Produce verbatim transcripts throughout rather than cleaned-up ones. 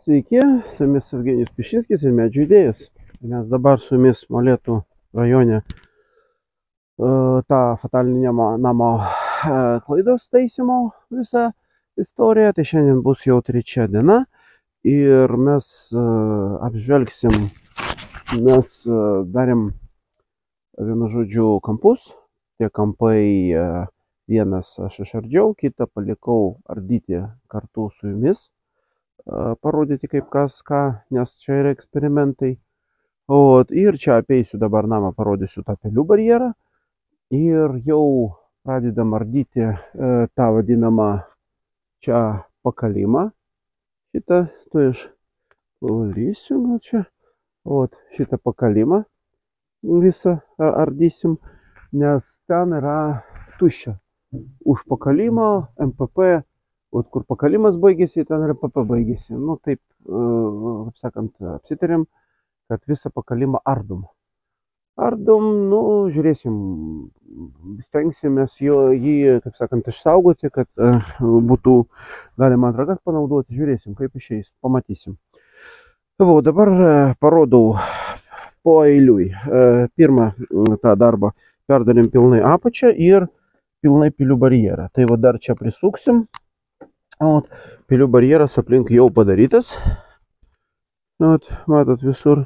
Sveiki, su jumis Evgenijus Pišinskis ir Medžių idėjos. Mes dabar su jumis Molėtų rajone uh, tą fatalinį namo uh, klaidos taisymo visą istoriją. Tai šiandien bus jau trečia diena ir mes uh, apžvelgsim, mes uh, darėm vienu žodžiu kampus. Tie kampai uh, vienas aš išardžiau, kitą palikau ardyti kartu su jumis. Parodyti kaip kas ką, nes čia yra eksperimentai. O, ir čia apeisiu dabar namą, parodysiu tą pelių barjerą. Ir jau pradedam ardyti e, tą vadinamą čia pakalimą. Šitą, tu aš valysiu, gal čia. O, šitą pakalimą visą ardysim, nes ten yra tuščia. Už pakalimo M P P. O kur pakalimas baigėsi, ten ir P P baigėsi. Nu, taip, kaip sakant, apsitarėm, kad visą pakalimą ardom. Ardom, nu, žiūrėsim, stengsimės jo, jį, kaip sakant, išsaugoti, kad uh, būtų galima antrą kartą panaudoti. Žiūrėsim, kaip išeis, pamatysim. O dabar uh, parodau po eiliui. Uh, pirmą uh, tą darbą perdarėm pilnai apačią ir pilnai pilių barjerą. Tai va dar čia prisuksim. Ot, pilių barjeras aplink jau padarytas. Ot, matot visur.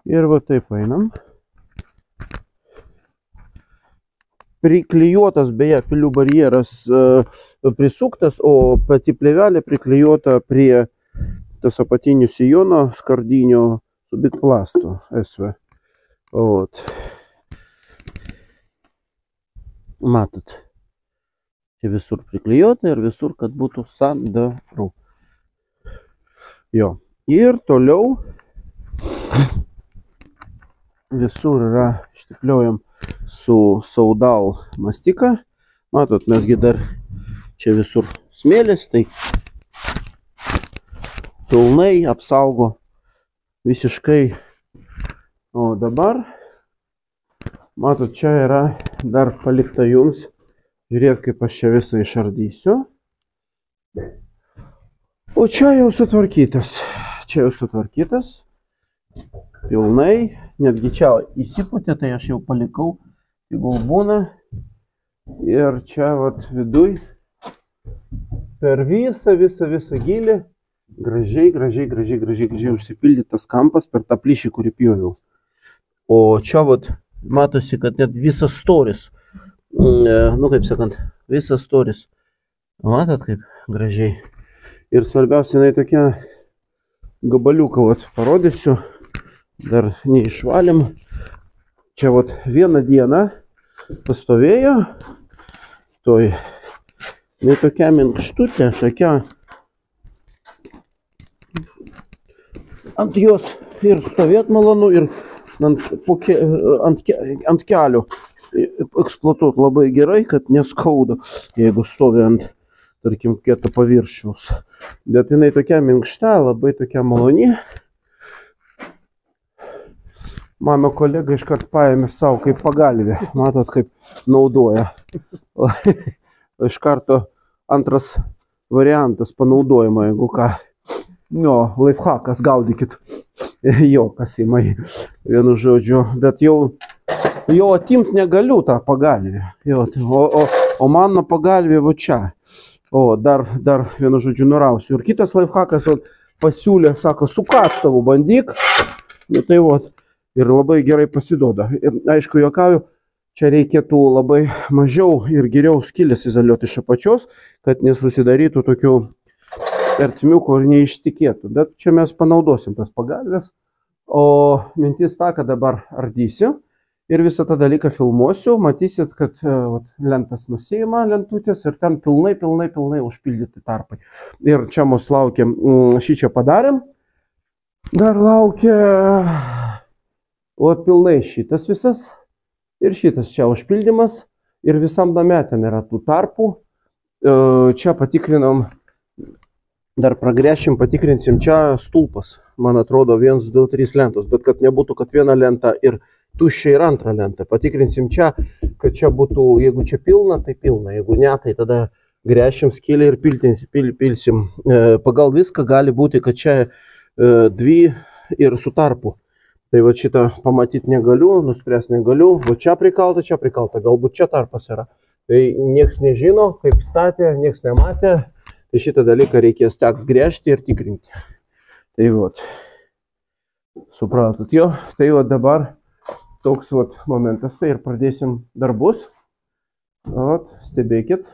Ir va taip einam. Priklijuotas beje pilių barjeras uh, prisuktas, o pati plėvelė priklijuota prie tas apatinių sijono skardinio su bitplastu S V. Ot. Matot, čia visur priklijuota ir visur, kad būtų sandaru. Jo, ir toliau visur yra ištikliuojam su saudal mastika. Matot, mesgi dar čia visur smėlis, tai pilnai apsaugo visiškai. O dabar matot, čia yra dar palikta jums. Žiūrėt, kaip aš čia visą išardysiu. O čia jau sutvarkytas. Čia jau sutvarkytas. Pilnai. Netgi čia įsipūtė, tai aš jau palikau. Tegul būna. Ir čia vat viduj. Per visą, visą, visą gilį. Gražiai, gražiai, gražiai, gražiai, gražiai užsipildytas kampas per tą plyšį, kurį pjoviau. O čia vat matosi, kad net visas storis, nu kaip sakant, visas storis. Matot, kaip gražiai. Ir svarbiausia, jinai tokia gabaliuką, vat, parodysiu. Dar neišvalėm. Čia vat vieną dieną pastovėjo. Toj, jinai tokia minkštutė, tokia. Ant jos ir stovėt malonu, ir Ant, ke, ant, ke, ant kelių eksploatuot labai gerai, kad neskauda, jeigu stovi ant, tarkim, kieto paviršiaus. Bet jinai tokia minkšta, labai tokia maloni. Mano kolega iškart paėmė savo kaip pagalvę. Matot, kaip naudoja. Iš karto antras variantas panaudojimo, jeigu ką. Jo, lifhakas, gaudykit. Jo, kasimai, vienu žodžiu, bet jau, jau atimt negaliu tą pagalvę. Jo, o, o, o mano pagalvė va čia. O, dar, dar vienu žodžiu nurausiu. Ir kitas lifhakas pasiūlė, sako, su kastavu bandyk. Nu, tai va, ir labai gerai pasiduoda. Ir aišku, juokauju, čia reikėtų labai mažiau ir geriau skylės izoliuoti iš apačios, kad nesusidarytų tokių ertmiukų ir neištikėtų. Bet čia mes panaudosim tas pagalvės. O mintis ta, kad dabar ardysiu ir visą tą dalyką filmuosiu. Matysit, kad vat, lentas nusėjama lentutės ir ten pilnai, pilnai, pilnai užpildyti tarpai. Ir čia mus laukia, šį čia padarėm. Dar laukia o pilnai šitas visas ir šitas čia užpildymas. Ir visam name ten yra tų tarpų. Čia patikrinom. Dar pragręšim, patikrinsim čia stulpas. Man atrodo, vienas, du, trys lentos. Bet kad nebūtų, kad viena lenta ir tuščia ir antra lenta. Patikrinsim čia, kad čia būtų, jeigu čia pilna, tai pilna. Jeigu ne, tai tada gręšim skylę ir piltim, pil, pilsim. Pagal viską gali būti, kad čia dvi ir su tarpu. Tai va šitą pamatyti negaliu, nuspręs negaliu. Va čia prikalta, čia prikalta, galbūt čia tarpas yra. Tai nieks nežino, kaip statė, nieks nematė. Tai šitą dalyką reikės teks gręžti ir tikrinti. Tai va, supratot jo. Tai va dabar toks va momentas, tai ir pradėsim darbus. Vat, stebėkit.